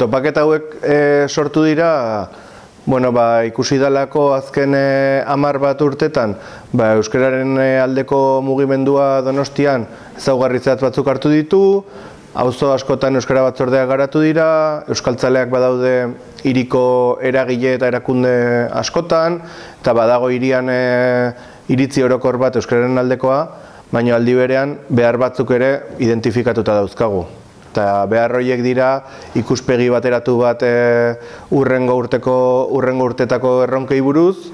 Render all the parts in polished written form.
Topaketa hauek sortu dira, ikusi dalako azken 10 bat urtetan, euskararen aldeko mugimendua Donostian ezaugarri zehatz batzuk hartu ditu, auzo askotan euskara batzordeak garatu dira, euskaltzaleak badaude hiriko eragile eta erakunde askotan, eta badago hirian iritzi orokor bat euskararen aldekoa, baina aldi berean behar batzuk ere identifikatuta dauzkagu. Eta behar horiek dira ikuspegi bateratu bat urrengo urtetako erronkei buruz,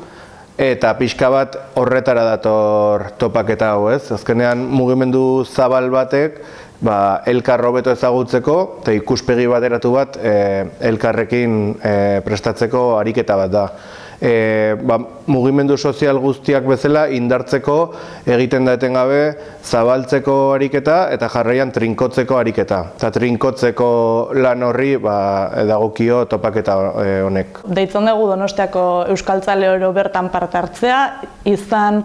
eta pixka bat horretara dator topaketa hau, ez? Azkenean mugimendu zabal batek elkar hobeto ezagutzeko eta ikuspegi bateratu bat elkarrekin prestatzeko ariketa bat da. Mugimendu sozial guztiak bezala indartzeko egiten da etengabe zabaltzeko ariketa eta jarraian trinkotzeko ariketa. Eta trinkotzeko lan horri dagokio topaketa honek. Deitzen dugu Donostiako euskaltzale oro bertan parte hartzea, izan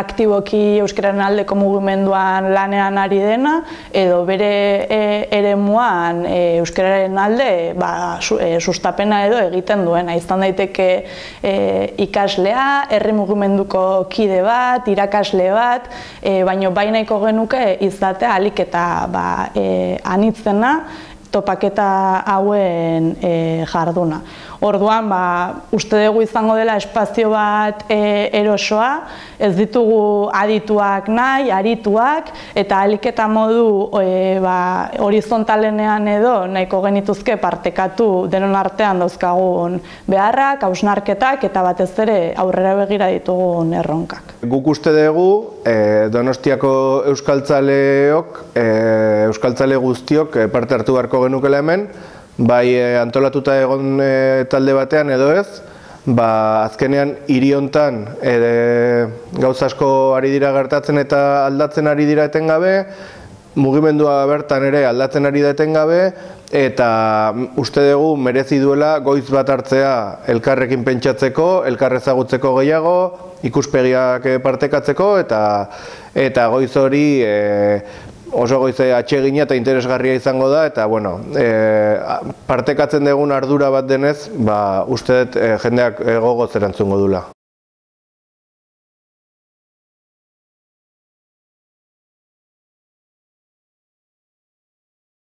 aktiboki euskararen aldeko mugimenduan lanean ari dena, edo bere eremuan euskararen alde sustapena edo egiten duena. Izan daiteke ikaslea, herri mugimenduko kide bat, irakasle bat, baina nahiko genuke izatea ahalik eta anitzena topaketa hauen jarduna. Orduan, uste dugu izango dela espazio bat erosoa, ez ditugu adituak nahi, arituak, eta ahalik eta modu horizontalenean edo nahiko genituzke partekatu denon artean dauzkagun beharrak, hausnarketak eta batez ere aurrera begira ditugun erronkak. Guk uste dugu Donostiako euskaltzaleok, euskaltzale guztiok parte hartu beharko genukela hemen, bai antolatuta egon talde batean edo ez, azkenean hiri hontan gauza asko ari dira gertatzen eta aldatzen ari dira etengabe, mugimendua bertan ere aldatzen ari da etengabe, eta uste dugu merezi duela goiz bat hartzea elkarrekin pentsatzeko, elkar ezagutzeko gehiago, ikuspegiak partekatzeko, eta goiz hori oso goize atsegina eta interesgarria izango da, eta partekatzen dugun ardura bat denez, uste dut jendeak gogoz erantzungo dula.